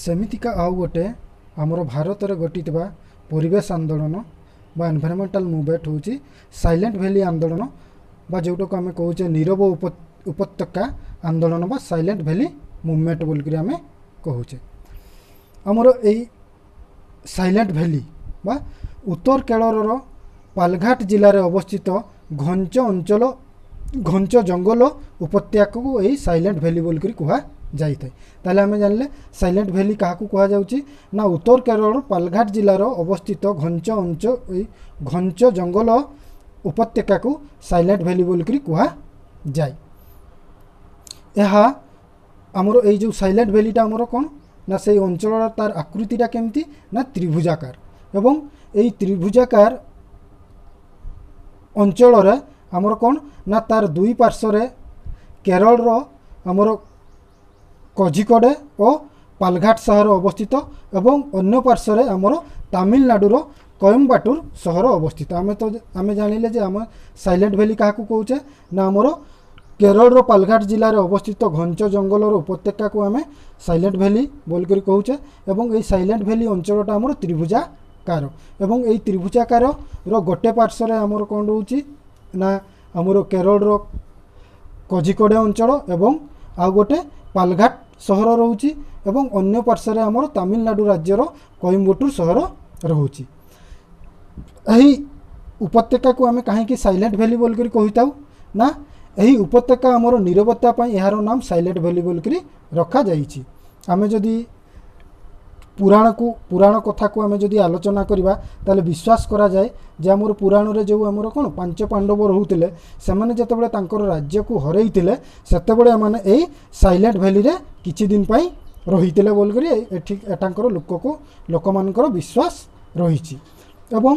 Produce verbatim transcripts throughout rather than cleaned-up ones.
ସେମିତିକା ଆଉ ଗୋଟେ ଆମର ଭାରତରେ ଘଟିଥିବା ପରିବେଶ ଆନ୍ଦୋଳନ ବା ଏନଭାଇରନମେଣ୍ଟାଲ ମୁଭମେଣ୍ଟ ହେଉଛି ସାଇଲେଣ୍ଟ ଭ୍ୟାଲି ଆନ୍ଦୋଳନ ବା ଯେଉଁଟାକୁ ଆମେ କହୁଛେ ନୀରବ ଉପତ୍ୟକା ଆନ୍ଦୋଳନ ବା ସାଇଲେଣ୍ଟ ଭ୍ୟାଲି ମୁଭମେଣ୍ଟ ବୋଲିକରି ଆମେ କହୁଛେ। ଆମର ଏଇ ସାଇଲେଣ୍ଟ ଭ୍ୟାଲି ବା ଉତ୍ତର କେରଳର ପାଲଘାଟ ଜିଲ୍ଲାରେ ଅବସ୍ଥିତ ଘଞ୍ଚ ଅଞ୍ଚଳ ଘଞ୍ଚ ଜଙ୍ଗଲ ଉପତ୍ୟକାକୁ ଏଇ ସାଇଲେଣ୍ଟ ଭ୍ୟାଲି ବୋଲିକରି କୁହାଯାଇଥାଏ। ତାହେଲେ ଆମେ ଜାଣିଲେ ସାଇଲେଣ୍ଟ ଭ୍ୟାଲି କାହାକୁ କୁହାଯାଉଛି ନା ଉତ୍ତର କେରଳର ପାଲଘାଟ ଜିଲ୍ଲାର ଅବସ୍ଥିତ ଘଞ୍ଚ ଅଞ୍ଚ ଏଇ ଘଞ୍ଚ ଜଙ୍ଗଲ ଉପତ୍ୟକାକୁ ସାଇଲେଣ୍ଟ ଭ୍ୟାଲି ବୋଲିକରି କୁହାଯାଏ। ଏହା ଆମର ଏଇ ଯେଉଁ ସାଇଲେଣ୍ଟ ଭ୍ୟାଲିଟା ଆମର କ'ଣ ନା ସେଇ ଅଞ୍ଚଳର ତାର ଆକୃତିଟା କେମିତି ନା ତ୍ରିଭୁଜାକାର ଏବଂ ଏଇ ତ୍ରିଭୁଜାକାର ଅଞ୍ଚଳରେ ଆମର କ'ଣ ନା ତାର ଦୁଇ ପାର୍ଶ୍ୱରେ କେରଳର ଆମର କୋଝିକୋଡ଼େ ଓ ପାଲଘାଟ ସହର ଅବସ୍ଥିତ ଏବଂ ଅନ୍ୟ ପାର୍ଶ୍ୱରେ ଆମର ତାମିଲନାଡ଼ୁର କୋଏମ୍ବାଟୁର ସହର ଅବସ୍ଥିତ। ଆମେ ତ ଆମେ ଜାଣିଲେ ଯେ ଆମ ସାଇଲେଣ୍ଟ ଭ୍ୟାଲି କାହାକୁ କହୁଛେ ନା ଆମର କେରଳର ପାଲଘାଟ ଜିଲ୍ଲାରେ ଅବସ୍ଥିତ ଘଞ୍ଚ ଜଙ୍ଗଲର ଉପତ୍ୟକାକୁ ଆମେ ସାଇଲେଣ୍ଟ ଭ୍ୟାଲି ବୋଲିକରି କହୁଛେ ଏବଂ ଏଇ ସାଇଲେଣ୍ଟ ଭ୍ୟାଲି ଅଞ୍ଚଳଟା ଆମର ତ୍ରିଭୁଜାକାର ଏବଂ ଏଇ ତ୍ରିଭୁଜାକାରର ଗୋଟେ ପାର୍ଶ୍ୱରେ ଆମର କ'ଣ ରହୁଛି ନା ଆମର କେରଳର କୋଝିକୋଡ଼େ ଅଞ୍ଚଳ ଏବଂ ଆଉ ଗୋଟେ ପାଲଘାଟ ସହର ରହୁଛି ଏବଂ ଅନ୍ୟ ପାର୍ଶ୍ୱରେ ଆମର ତାମିଲନାଡ଼ୁ ରାଜ୍ୟର କୋଏମ୍ବାଟୁର ସହର ରହୁଛି। ଏହି ଉପତ୍ୟକାକୁ ଆମେ କାହିଁକି ସାଇଲେଣ୍ଟ ଭ୍ୟାଲି ବୋଲିକରି କହିଥାଉ ନା ଏହି ଉପତ୍ୟକା ଆମର ନୀରବତା ପାଇଁ ଏହାର ନାମ ସାଇଲେଣ୍ଟ ଭ୍ୟାଲି ବୋଲିକରି ରଖାଯାଇଛି। ଆମେ ଯଦି ପୁରାଣକୁ ପୁରାଣ କଥାକୁ ଆମେ ଯଦି ଆଲୋଚନା କରିବା ତାହେଲେ ବିଶ୍ୱାସ କରାଯାଏ ଯେ ଆମର ପୁରାଣରେ ଯେଉଁ ଆମର କ'ଣ ପାଞ୍ଚ ପାଣ୍ଡବ ରହୁଥିଲେ ସେମାନେ ଯେତେବେଳେ ତାଙ୍କର ରାଜ୍ୟକୁ ହରେଇଥିଲେ ସେତେବେଳେ ଏମାନେ ଏଇ ସାଇଲେଣ୍ଟ ଭ୍ୟାଲିରେ କିଛି ଦିନ ପାଇଁ ରହିଥିଲେ ବୋଲିକରି ଏଠି ଏଠାଙ୍କର ଲୋକକୁ ଲୋକମାନଙ୍କର ବିଶ୍ୱାସ ରହିଛି। ଏବଂ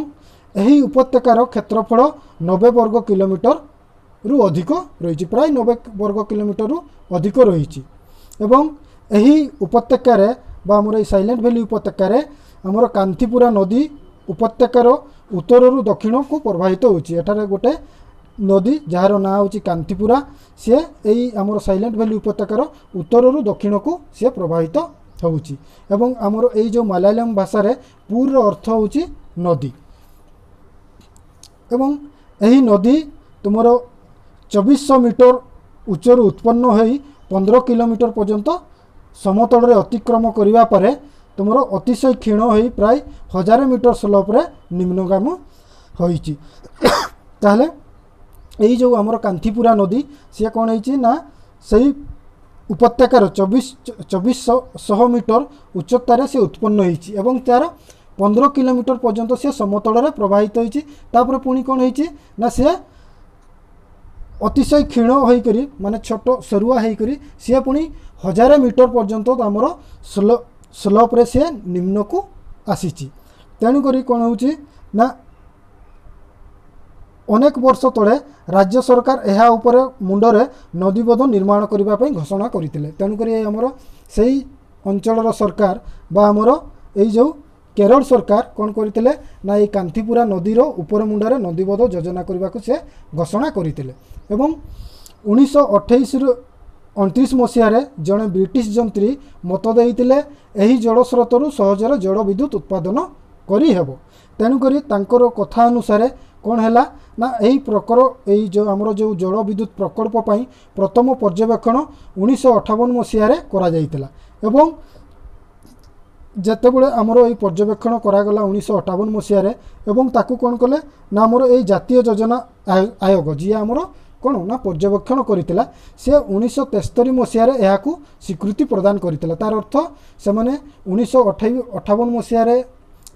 ଏହି ଉପତ୍ୟକାର କ୍ଷେତ୍ରଫଳ ନବେ ବର୍ଗ କିଲୋମିଟରରୁ ଅଧିକ ରହିଛି, ପ୍ରାୟ ନବେ ବର୍ଗ କିଲୋମିଟରରୁ ଅଧିକ ରହିଛି। ଏବଂ ଏହି ଉପତ୍ୟକାରେ ବା ଆମର ଏଇ ସାଇଲେଣ୍ଟ ଭ୍ୟାଲି ଉପତ୍ୟକାରେ ଆମର କାନ୍ଥିପୁରା ନଦୀ ଉପତ୍ୟକାର ଉତ୍ତରରୁ ଦକ୍ଷିଣକୁ ପ୍ରବାହିତ ହେଉଛି। ଏଠାରେ ଗୋଟେ ନଦୀ ଯାହାର ନାଁ ହେଉଛି କାନ୍ଥିପୁରା, ସିଏ ଏଇ ଆମର ସାଇଲେଣ୍ଟ ଭ୍ୟାଲି ଉପତ୍ୟକାର ଉତ୍ତରରୁ ଦକ୍ଷିଣକୁ ସିଏ ପ୍ରବାହିତ ହେଉଛି। ଏବଂ ଆମର ଏଇ ଯେଉଁ ମାଲାୟାଲମ ଭାଷାରେ ପୁରର ଅର୍ଥ ହେଉଛି ନଦୀ ଏବଂ ଏହି ନଦୀ ତୁମର ଚବିଶଶହ ମିଟର ଉଚ୍ଚରୁ ଉତ୍ପନ୍ନ ହୋଇ ପନ୍ଦର କିଲୋମିଟର ପର୍ଯ୍ୟନ୍ତ ସମତଳରେ ଅତିକ୍ରମ କରିବା ପରେ ତୁମର ଅତିଶୟ କ୍ଷୀଣ ହୋଇ ପ୍ରାୟ ହଜାରେ ମିଟର ସ୍ଲୋପରେ ନିମ୍ନଗାମୀ ହୋଇଛି। ତାହେଲେ ଏଇ ଯେଉଁ ଆମର କାନ୍ଥିପୁରା ନଦୀ ସିଏ କ'ଣ ହେଇଛି ନା ସେଇ ଉପତ୍ୟକାର ଚବିଶ ଚବିଶଶହ ଶହ ମିଟର ଉଚ୍ଚତାରେ ସେ ଉତ୍ପନ୍ନ ହୋଇଛି ଏବଂ ତା'ର ପନ୍ଦର କିଲୋମିଟର ପର୍ଯ୍ୟନ୍ତ ସେ ସମତଳରେ ପ୍ରବାହିତ ହୋଇଛି। ତାପରେ ପୁଣି କ'ଣ ହେଇଛି ନା ସେ ଅତିଶୟ କ୍ଷୀଣ ହୋଇକରି ମାନେ ଛୋଟ ସରୁଆ ହୋଇକରି ସିଏ ପୁଣି ହଜାରେ ମିଟର ପର୍ଯ୍ୟନ୍ତ ଆମର ସ୍ଲୋ ସ୍ଲୋପରେ ସିଏ ନିମ୍ନକୁ ଆସିଛି। ତେଣୁକରି କ'ଣ ହେଉଛି ନା ଅନେକ ବର୍ଷ ତଳେ ରାଜ୍ୟ ସରକାର ଏହା ଉପରେ ମୁଣ୍ଡରେ ନଦୀବନ୍ଧ ନିର୍ମାଣ କରିବା ପାଇଁ ଘୋଷଣା କରିଥିଲେ। ତେଣୁକରି ଆମର ସେଇ ଅଞ୍ଚଳର ସରକାର ବା ଆମର ଏଇ ଯେଉଁ କେରଳ ସରକାର କ'ଣ କରିଥିଲେ ନା ଏଇ କାନ୍ଥିପୁରା ନଦୀର ଉପର ମୁଣ୍ଡରେ ନଦୀବନ୍ଧ ଯୋଜନା କରିବାକୁ ସେ ଘୋଷଣା କରିଥିଲେ। ଏବଂ ଉଣେଇଶହ ଅଠେଇଶରୁ ଅଣତିରିଶ ମସିହାରେ ଜଣେ ବ୍ରିଟିଶ ଯନ୍ତ୍ରୀ ମତ ଦେଇଥିଲେ ଏହି ଜଳସ୍ରୋତରୁ ସହଜରେ ଜଳ ବିଦ୍ୟୁତ ଉତ୍ପାଦନ କରିହେବ। ତେଣୁକରି ତାଙ୍କର କଥା ଅନୁସାରେ କ'ଣ ହେଲା ନା ଏହି ପ୍ରକର ଏଇ ଯେଉଁ ଆମର ଯେଉଁ ଜଳ ବିଦ୍ୟୁତ ପ୍ରକଳ୍ପ ପାଇଁ ପ୍ରଥମ ପର୍ଯ୍ୟବେକ୍ଷଣ ଉଣେଇଶହ ଅଠାବନ ମସିହାରେ କରାଯାଇଥିଲା। ଏବଂ ଯେତେବେଳେ ଆମର ଏଇ ପର୍ଯ୍ୟବେକ୍ଷଣ କରାଗଲା ଉଣେଇଶହ ଅଠାବନ ମସିହାରେ ଏବଂ ତାକୁ କ'ଣ କଲେ ନା ଆମର ଏଇ ଜାତୀୟ ଯୋଜନା ଆୟୋଗ ଯିଏ ଆମର କ'ଣ ନା ପର୍ଯ୍ୟବେକ୍ଷଣ କରିଥିଲା ସେ ଉଣେଇଶହ ତେସ୍ତରୀ ମସିହାରେ ଏହାକୁ ସ୍ୱୀକୃତି ପ୍ରଦାନ କରିଥିଲା। ତାର ଅର୍ଥ ସେମାନେ ଉଣେଇଶହ ଅଠେଇ ଅଠାବନ ମସିହାରେ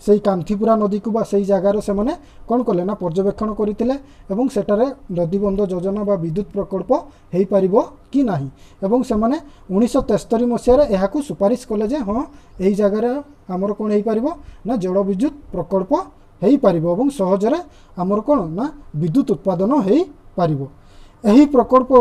ସେଇ କାନ୍ଥିପୁରା ନଦୀକୁ ବା ସେଇ ଜାଗାର ସେମାନେ କ'ଣ କଲେ ନା ପର୍ଯ୍ୟବେକ୍ଷଣ କରିଥିଲେ ଏବଂ ସେଠାରେ ନଦୀବନ୍ଧ ଯୋଜନା ବା ବିଦ୍ୟୁତ ପ୍ରକଳ୍ପ ହେଇପାରିବ କି ନାହିଁ ଏବଂ ସେମାନେ ଉଣେଇଶହ ତେସ୍ତରୀ ମସିହାରେ ଏହାକୁ ସୁପାରିଶ କଲେ ଯେ ହଁ ଏହି ଜାଗାରେ ଆମର କ'ଣ ହେଇପାରିବ ନା ଜଳ ବିଦ୍ୟୁତ ପ୍ରକଳ୍ପ ହେଇପାରିବ ଏବଂ ସହଜରେ ଆମର କ'ଣ ନା ବିଦ୍ୟୁତ ଉତ୍ପାଦନ ହେଇପାରିବ। ଏହି ପ୍ରକଳ୍ପ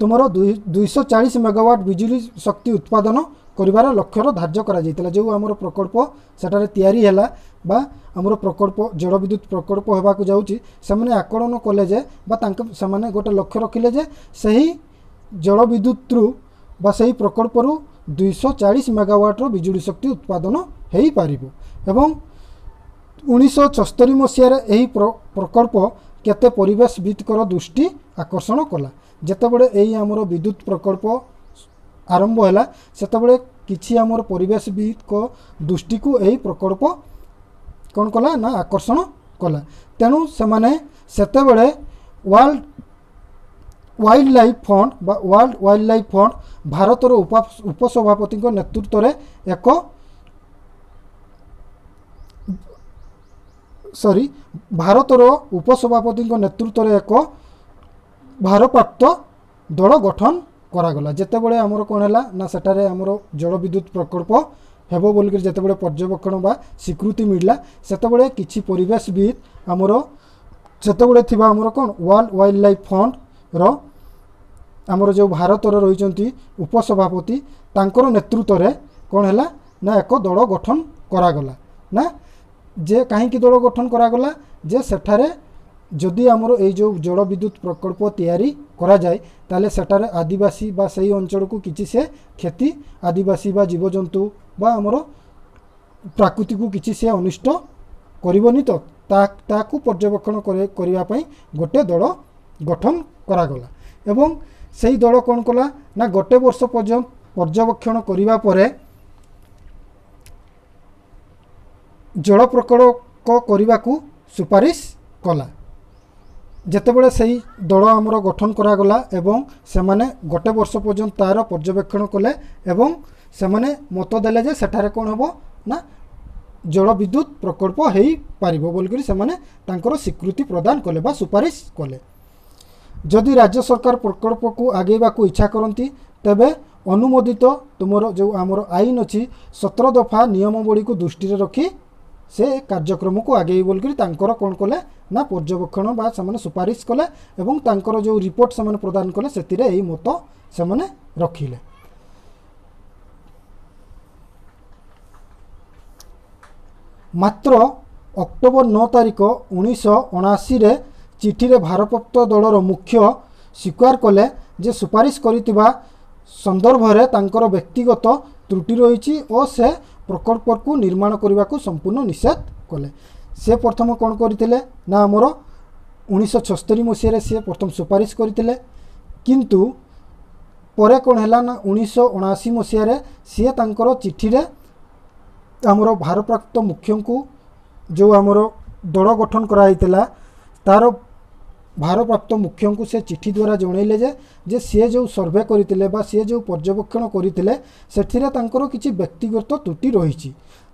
ତୁମର ଦୁଇ ଦୁଇଶହ ଚାଳିଶ ମେଗାୱାଟ୍ ବିଜୁଳି ଶକ୍ତି ଉତ୍ପାଦନ କରିବାର ଲକ୍ଷ୍ୟର ଧାର୍ଯ୍ୟ କରାଯାଇଥିଲା। ଯେଉଁ ଆମର ପ୍ରକଳ୍ପ ସେଠାରେ ତିଆରି ହେଲା ବା ଆମର ପ୍ରକଳ୍ପ ଜଳ ବିଦ୍ୟୁତ ପ୍ରକଳ୍ପ ହେବାକୁ ଯାଉଛି ସେମାନେ ଆକଳନ କଲେ ଯେ ବା ତାଙ୍କ ସେମାନେ ଗୋଟେ ଲକ୍ଷ୍ୟ ରଖିଲେ ଯେ ସେହି ଜଳ ବିଦ୍ୟୁତରୁ ବା ସେହି ପ୍ରକଳ୍ପରୁ ଦୁଇଶହ ଚାଳିଶ ମେଗାୱାଟ୍ର ବିଜୁଳି ଶକ୍ତି ଉତ୍ପାଦନ ହୋଇପାରିବ। ଏବଂ ଉଣେଇଶହ ଛସ୍ତରୀ ମସିହାରେ ଏହି ପ୍ରକଳ୍ପ କେତେ ପରିବେଶବିତ୍ଙ୍କର ଦୃଷ୍ଟି ଆକର୍ଷଣ କଲା। ଯେତେବେଳେ ଏଇ ଆମର ବିଦ୍ୟୁତ ପ୍ରକଳ୍ପ ଆରମ୍ଭ ହେଲା ସେତେବେଳେ କିଛି ଆମର ପରିବେଶବିତ୍ଙ୍କ ଦୃଷ୍ଟିକୁ ଏହି ପ୍ରକଳ୍ପ କ'ଣ କଲା ନା ଆକର୍ଷଣ କଲା। ତେଣୁ ସେମାନେ ସେତେବେଳେ ୱାର୍ଲଡ଼ ୱାଇଲ୍ଡ ଲାଇଫ୍ ଫଣ୍ଡ ବା ୱାର୍ଲଡ଼ ୱାଇଲ୍ଡ ଲାଇଫ୍ ଫଣ୍ଡ ଭାରତର ଉପସଭାପତିଙ୍କ ନେତୃତ୍ୱରେ ଏକ ସରି ଭାରତର ଉପସଭାପତିଙ୍କ ନେତୃତ୍ୱରେ ଏକ ଭାରପ୍ରାପ୍ତ ଦଳ ଗଠନ କରାଗଲା। ଯେତେବେଳେ ଆମର କ'ଣ ହେଲା ନା ସେଠାରେ ଆମର ଜଳବିଦ୍ୟୁତ ପ୍ରକଳ୍ପ ହେବ ବୋଲିକରି ଯେତେବେଳେ ପର୍ଯ୍ୟବେକ୍ଷଣ ବା ସ୍ୱୀକୃତି ମିଳିଲା ସେତେବେଳେ କିଛି ପରିବେଶବିତ୍ ଆମର ସେତେବେଳେ ଥିବା ଆମର କ'ଣ ୱାର୍ଲଡ଼ ୱାଇଲ୍ଡ ଲାଇଫ୍ ଫଣ୍ଡର ଆମର ଯେଉଁ ଭାରତର ରହିଛନ୍ତି ଉପସଭାପତି ତାଙ୍କର ନେତୃତ୍ୱରେ କ'ଣ ହେଲା ନା ଏକ ଦଳ ଗଠନ କରାଗଲା। ନା ଯେ କାହିଁକି ଦଳ ଗଠନ କରାଗଲା ଯେ ସେଠାରେ ଯଦି ଆମର ଏଇ ଯେଉଁ ଜଳବିଦ୍ୟୁତ ପ୍ରକଳ୍ପ ତିଆରି କରାଯାଏ ତାହେଲେ ସେଠାରେ ଆଦିବାସୀ ବା ସେଇ ଅଞ୍ଚଳକୁ କିଛି ସେ କ୍ଷତି ଆଦିବାସୀ ବା ଜୀବଜନ୍ତୁ ବା ଆମର ପ୍ରାକୃତିକୁ କିଛି ସେ ଅନିଷ୍ଟ କରିବନି ତ ତାକୁ ପର୍ଯ୍ୟବେକ୍ଷଣ କରିବା ପାଇଁ ଗୋଟେ ଦଳ ଗଠନ କରାଗଲା। ଏବଂ ସେଇ ଦଳ କ'ଣ କଲା ନା ଗୋଟେ ବର୍ଷ ପର୍ଯ୍ୟନ୍ତ ପର୍ଯ୍ୟବେକ୍ଷଣ କରିବା ପରେ ଜଳ ପ୍ରକଳ୍ପ କରିବାକୁ ସୁପାରିଶ କଲା। ଯେତେବେଳେ ସେଇ ଦଳ ଆମର ଗଠନ କରାଗଲା ଏବଂ ସେମାନେ ଗୋଟେ ବର୍ଷ ପର୍ଯ୍ୟନ୍ତ ତା'ର ପର୍ଯ୍ୟବେକ୍ଷଣ କଲେ ଏବଂ ସେମାନେ ମତ ଦେଲେ ଯେ ସେଠାରେ କ'ଣ ହେବ ନା ଜଳବିଦ୍ୟୁତ ପ୍ରକଳ୍ପ ହୋଇପାରିବ ବୋଲିକରି ସେମାନେ ତାଙ୍କର ସ୍ୱୀକୃତି ପ୍ରଦାନ କଲେ ବା ସୁପାରିଶ କଲେ। ଯଦି ରାଜ୍ୟ ସରକାର ପ୍ରକଳ୍ପକୁ ଆଗେଇବାକୁ ଇଚ୍ଛା କରନ୍ତି ତେବେ ଅନୁମୋଦିତ ତୁମର ଯେଉଁ ଆମର ଆଇନ ଅଛି ସତର ଦଫା ନିୟମାବଳୀକୁ ଦୃଷ୍ଟିରେ ରଖି ସେ କାର୍ଯ୍ୟକ୍ରମକୁ ଆଗେଇ ବୋଲିକରି ତାଙ୍କର କ'ଣ କଲେ ନା ପର୍ଯ୍ୟବେକ୍ଷଣ ବା ସେମାନେ ସୁପାରିଶ କଲେ ଏବଂ ତାଙ୍କର ଯେଉଁ ରିପୋର୍ଟ ସେମାନେ ପ୍ରଦାନ କଲେ ସେଥିରେ ଏହି ମତ ସେମାନେ ରଖିଲେ। ମାତ୍ର ଅକ୍ଟୋବର ନଅ ତାରିଖ ଉଣେଇଶହ ଅଣାଅଶୀରେ ଚିଠିରେ ଭାରପ୍ରାପ୍ତ ଦଳର ମୁଖ୍ୟ ସ୍ୱୀକାର କଲେ ଯେ ସୁପାରିଶ କରିଥିବା ସନ୍ଦର୍ଭରେ ତାଙ୍କର ବ୍ୟକ୍ତିଗତ ତ୍ରୁଟି ରହିଛି ଓ ସେ ପ୍ରକଳ୍ପକୁ ନିର୍ମାଣ କରିବାକୁ ସମ୍ପୂର୍ଣ୍ଣ ନିଷେଧ କଲେ। ସେ ପ୍ରଥମ କ'ଣ କରିଥିଲେ ନା ଆମର ଉଣେଇଶହ ଛସ୍ତରୀ ମସିହାରେ ସେ ପ୍ରଥମ ସୁପାରିଶ କରିଥିଲେ, କିନ୍ତୁ ପରେ କ'ଣ ହେଲା ନା ଉଣେଇଶହ ଅଣାଅଶୀ ମସିହାରେ ସିଏ ତାଙ୍କର ଚିଠିରେ ଆମର ଭାରପ୍ରାପ୍ତ ମୁଖ୍ୟଙ୍କୁ ଯେଉଁ ଆମର ଦଳ ଗଠନ କରାଯାଇଥିଲା ତା'ର ଭାରପ୍ରାପ୍ତ ମୁଖ୍ୟଙ୍କୁ ସେ ଚିଠି ଦ୍ୱାରା ଜଣାଇଲେ ଯେ ଯେ ସିଏ ଯେଉଁ ସର୍ଭେ କରିଥିଲେ ବା ସିଏ ଯେଉଁ ପର୍ଯ୍ୟବେକ୍ଷଣ କରିଥିଲେ ସେଥିରେ ତାଙ୍କର କିଛି ବ୍ୟକ୍ତିଗତ ତ୍ରୁଟି ରହିଛି,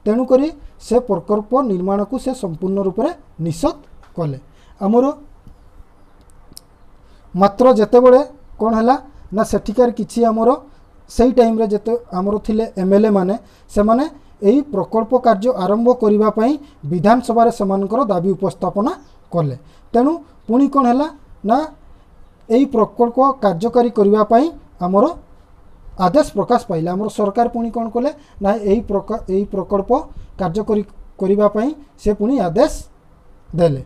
ତେଣୁକରି ସେ ପ୍ରକଳ୍ପ ନିର୍ମାଣକୁ ସେ ସମ୍ପୂର୍ଣ୍ଣ ରୂପରେ ନିଷେଧ କଲେ। ଆମର ମାତ୍ର ଯେତେବେଳେ କ'ଣ ହେଲା ନା ସେଠିକାର କିଛି ଆମର ସେଇ ଟାଇମ୍ରେ ଯେତେ ଆମର ଥିଲେ ଏମ୍ ଏଲ୍ ଏ ମାନେ ସେମାନେ ଏହି ପ୍ରକଳ୍ପ କାର୍ଯ୍ୟ ଆରମ୍ଭ କରିବା ପାଇଁ ବିଧାନସଭାରେ ସେମାନଙ୍କର ଦାବି ଉପସ୍ଥାପନା କଲେ। ତେଣୁ ପୁଣି କ'ଣ ହେଲା ନା ଏହି ପ୍ରକଳ୍ପ କାର୍ଯ୍ୟକାରୀ କରିବା ପାଇଁ ଆମର ଆଦେଶ ପ୍ରକାଶ ପାଇଲା। ଆମର ସରକାର ପୁଣି କ'ଣ କଲେ ନା ଏହି ଏହି ପ୍ରକଳ୍ପ କାର୍ଯ୍ୟକାରୀ କରିବା ପାଇଁ ସେ ପୁଣି ଆଦେଶ ଦେଲେ।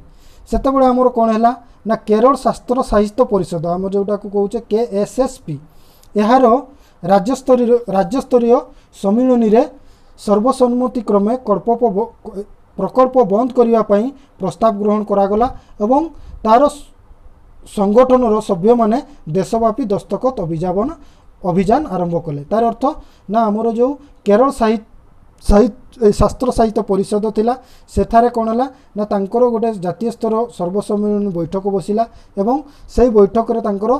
ସେତେବେଳେ ଆମର କ'ଣ ହେଲା ନା କେରଳ ଶାସ୍ତ୍ର ସାହିତ୍ୟ ପରିଷଦ ଆମ ଯେଉଁଟାକୁ କହୁଛେ କେ ଏସ୍ ଏସ୍ ପି ଏହାର ରାଜ୍ୟସ୍ତରୀୟ ରାଜ୍ୟସ୍ତରୀୟ ସମ୍ମିଳନୀରେ ସର୍ବସମ୍ମତିକ୍ରମେ କଳ୍ପ ପ୍ରକଳ୍ପ ବନ୍ଦ କରିବା ପାଇଁ ପ୍ରସ୍ତାବ ଗ୍ରହଣ କରାଗଲା ଏବଂ ତା'ର ସଂଗଠନର ସଭ୍ୟମାନେ ଦେଶବ୍ୟାପୀ ଦସ୍ତଖତ ଅଭିଯାନ ଅଭିଯାନ ଆରମ୍ଭ କଲେ। ତାର ଅର୍ଥ ନା ଆମର ଯେଉଁ କେରଳ ସାହିତ୍ୟ ସାହିତ୍ୟ ଶାସ୍ତ୍ର ସାହିତ୍ୟ ପରିଷଦ ଥିଲା ସେଠାରେ କ'ଣ ହେଲା ନା ତାଙ୍କର ଗୋଟେ ଜାତୀୟ ସ୍ତର ସର୍ବସମ୍ମିଳନୀ ବୈଠକ ବସିଲା ଏବଂ ସେଇ ବୈଠକରେ ତାଙ୍କର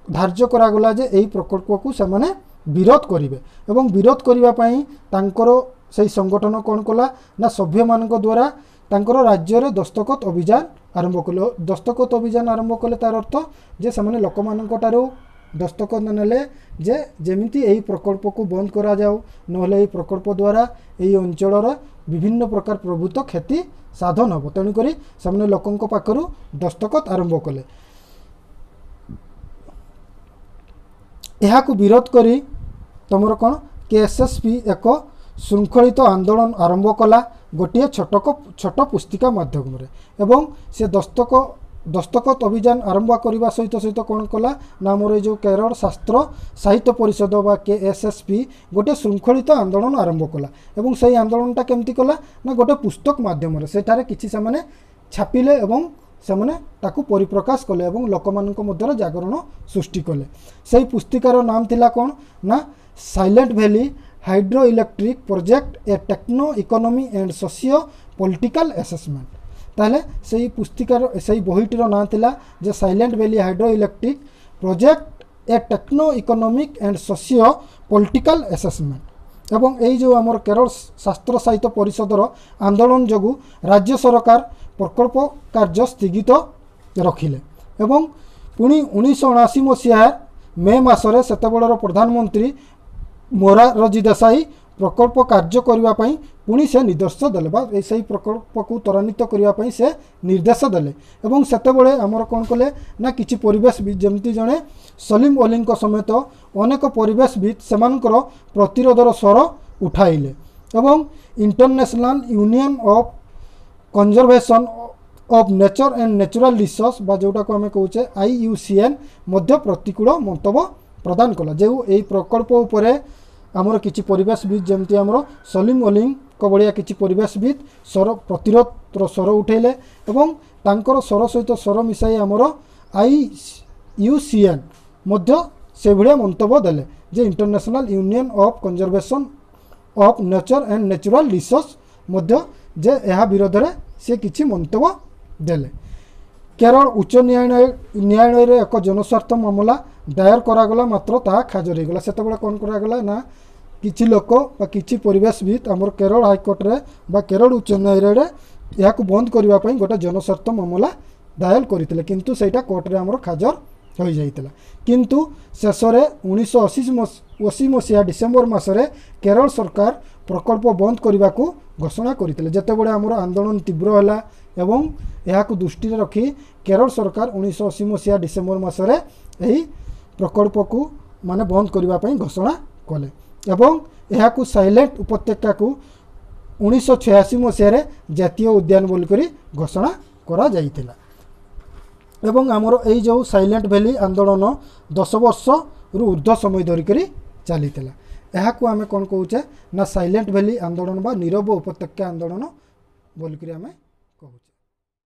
ଧାର୍ଯ୍ୟ କରାଗଲା ଯେ ଏହି ପ୍ରକଳ୍ପକୁ ସେମାନେ ବିରୋଧ କରିବେ ଏବଂ ବିରୋଧ କରିବା ପାଇଁ ତାଙ୍କର ସେଇ ସଂଗଠନ କ'ଣ କଲା ନା ସଭ୍ୟମାନଙ୍କ ଦ୍ୱାରା ତାଙ୍କର ରାଜ୍ୟରେ ଦସ୍ତଖତ ଅଭିଯାନ ଆରମ୍ଭ କଲେ। ଦସ୍ତଖତ ଅଭିଯାନ ଆରମ୍ଭ କଲେ ତାର ଅର୍ଥ ଯେ ସେମାନେ ଲୋକମାନଙ୍କ ଠାରୁ ଦସ୍ତଖତ ନେଲେ ଯେ ଯେମିତି ଏହି ପ୍ରକଳ୍ପକୁ ବନ୍ଦ କରାଯାଉ, ନହେଲେ ଏହି ପ୍ରକଳ୍ପ ଦ୍ୱାରା ଏହି ଅଞ୍ଚଳର ବିଭିନ୍ନ ପ୍ରକାର ପ୍ରଭୂତ କ୍ଷତି ସାଧନ ହେବ। ତେଣୁକରି ସେମାନେ ଲୋକଙ୍କ ପାଖରୁ ଦସ୍ତଖତ ଆରମ୍ଭ କଲେ। ଏହାକୁ ବିରୋଧ କରି ତୁମର କ'ଣ କେ ଏସ୍ ଏସ୍ ପି ଏକ ଶୃଙ୍ଖଳିତ ଆନ୍ଦୋଳନ ଆରମ୍ଭ କଲା ଗୋଟିଏ ଛୋଟ ଛୋଟ ପୁସ୍ତିକା ମାଧ୍ୟମରେ ଏବଂ ସେ ଦସ୍ତକ ଦସ୍ତଖତ ଅଭିଯାନ ଆରମ୍ଭ କରିବା ସହିତ ସହିତ କ'ଣ କଲା ନା ଆମର ଏଇ ଯେଉଁ କେରଳ ଶାସ୍ତ୍ର ସାହିତ୍ୟ ପରିଷଦ ବା କେ ଏସ୍ ଏସ୍ ପି ଗୋଟେ ଶୃଙ୍ଖଳିତ ଆନ୍ଦୋଳନ ଆରମ୍ଭ କଲା ଏବଂ ସେଇ ଆନ୍ଦୋଳନଟା କେମିତି କଲା ନା ଗୋଟେ ପୁସ୍ତକ ମାଧ୍ୟମରେ ସେଠାରେ କିଛି ସେମାନେ ଛାପିଲେ ଏବଂ ସେମାନେ ତାକୁ ପରିପ୍ରକାଶ କଲେ ଏବଂ ଲୋକମାନଙ୍କ ମଧ୍ୟରେ ଜାଗରଣ ସୃଷ୍ଟି କଲେ। ସେଇ ପୁସ୍ତିକାର ନାମ ଥିଲା କ'ଣ ନା Silent Valley hydro electric project a techno economy and socio political assessment. ତାହେଲେ ସେଇ ପୁସ୍ତିକାର ସେଇ ବହିଟିର ନାଁ ଥିଲା ଯେ Silent Valley hydro electric project a techno economic and socio political assessment. ଏବଂ ଏଇ ଯେଉଁ ଆମର କେରଳ ଶାସ୍ତ୍ର ସାହିତ୍ୟ ପରିଷଦର ଆନ୍ଦୋଳନ ଯୋଗୁଁ ରାଜ୍ୟ ସରକାର ପ୍ରକଳ୍ପ କାର୍ଯ୍ୟ ସ୍ଥଗିତ ରଖିଲେ ଏବଂ ପୁଣି ଉଣେଇଶହ ଅଣାଅଶୀ ମସିହା ମେ ମାସରେ ସେତେବେଳର ପ୍ରଧାନମନ୍ତ୍ରୀ ମୋରାରଜୀ ଦେଶାଇ ପ୍ରକଳ୍ପ କାର୍ଯ୍ୟ କରିବା ପାଇଁ ପୁଣି ସେ ନିର୍ଦ୍ଦେଶ ଦେଲେ ବା ସେଇ ପ୍ରକଳ୍ପକୁ ତ୍ୱରାନ୍ୱିତ କରିବା ପାଇଁ ସେ ନିର୍ଦ୍ଦେଶ ଦେଲେ। ଏବଂ ସେତେବେଳେ ଆମର କ'ଣ କଲେ ନା କିଛି ପରିବେଶବିତ୍ ଯେମିତି ଜଣେ ସଲିମ ଅଲିଙ୍କ ସମେତ ଅନେକ ପରିବେଶବିତ୍ ସେମାନଙ୍କର ପ୍ରତିରୋଧର ସ୍ୱର ଉଠାଇଲେ ଏବଂ International Union of Conservation of Nature and Natural Resource ବା ଯେଉଁଟାକୁ ଆମେ କହୁଛେ I U C N ମଧ୍ୟ ପ୍ରତିକୂଳ ମନ୍ତବ୍ୟ ପ୍ରଦାନ କଲା। ଯେଉଁ ଏଇ ପ୍ରକଳ୍ପ ଉପରେ ଆମର କିଛି ପରିବେଶବିତ୍ ଯେମିତି ଆମର ସଲିମ ଅଲିଙ୍କ ଭଳିଆ କିଛି ପରିବେଶବିତ୍ ସ୍ୱର ପ୍ରତିରୋଧର ସ୍ୱର ଉଠାଇଲେ ଏବଂ ତାଙ୍କର ସ୍ୱର ସହିତ ସ୍ୱର ମିଶାଇ ଆମର I U C N ମଧ୍ୟ ସେଭଳିଆ ମନ୍ତବ୍ୟ ଦେଲେ ଯେ International Union of Conservation of Nature and Natural Resource ମଧ୍ୟ ଯେ ଏହା ବିରୋଧରେ ସେ କିଛି ମନ୍ତବ୍ୟ ଦେଲେ। କେରଳ ଉଚ୍ଚ ନ୍ୟାୟାଳୟ ନ୍ୟାୟାଳୟରେ ଏକ ଜନସ୍ୱାର୍ଥ ମାମଲା ଦାୟର କରାଗଲା, ମାତ୍ର ତାହା ଖାରଜ ହୋଇଗଲା। ସେତେବେଳେ କ'ଣ କରାଗଲା ନା କିଛି ଲୋକ ବା କିଛି ପରିବେଶବିତ୍ ଆମର କେରଳ ହାଇକୋର୍ଟରେ ବା କେରଳ ଉଚ୍ଚ ନ୍ୟାୟାଳୟରେ ଏହାକୁ ବନ୍ଦ କରିବା ପାଇଁ ଗୋଟେ ଜନସ୍ୱାର୍ଥ ମାମଲା ଦାୟର କରିଥିଲେ, କିନ୍ତୁ ସେଇଟା କୋର୍ଟରେ ଆମର ଖାରଜ ହୋଇଯାଇଥିଲା। କିନ୍ତୁ ଶେଷରେ ଉଣେଇଶହ ଅଶୀ ଅଶୀ ମସିହା ଡିସେମ୍ବର ମାସରେ କେରଳ ସରକାର ପ୍ରକଳ୍ପ ବନ୍ଦ କରିବାକୁ ଘୋଷଣା କରିଥିଲେ। ଯେତେବେଳେ ଆମର ଆନ୍ଦୋଳନ ତୀବ୍ର ହେଲା ଏବଂ ଏହାକୁ ଦୃଷ୍ଟିରେ ରଖି କେରଳ ସରକାର ଉଣେଇଶହ ଅଶୀ ମସିହା ଡିସେମ୍ବର ମାସରେ ଏହି ପ୍ରକଳ୍ପକୁ ମାନେ ବନ୍ଦ କରିବା ପାଇଁ ଘୋଷଣା କଲେ ଏବଂ ଏହାକୁ ସାଇଲେଣ୍ଟ ଉପତ୍ୟକାକୁ ଉଣେଇଶହ ଛୟାଅଶୀ ମସିହାରେ ଜାତୀୟ ଉଦ୍ୟାନ ବୋଲିକରି ଘୋଷଣା କରାଯାଇଥିଲା। ଏବଂ ଆମର ଏଇ ଯେଉଁ ସାଇଲେଣ୍ଟ ଭ୍ୟାଲି ଆନ୍ଦୋଳନ ଦଶ ବର୍ଷରୁ ଉର୍ଦ୍ଧ୍ୱ ସମୟ ଧରିକରି ଚାଲିଥିଲା। ଏହାକୁ ଆମେ କ'ଣ କହୁଛେ ନା ସାଇଲେଣ୍ଟ ଭ୍ୟାଲି ଆନ୍ଦୋଳନ ବା ନୀରବ ଉପତ୍ୟକା ଆନ୍ଦୋଳନ ବୋଲିକରି ଆମେ କହୁଛେ।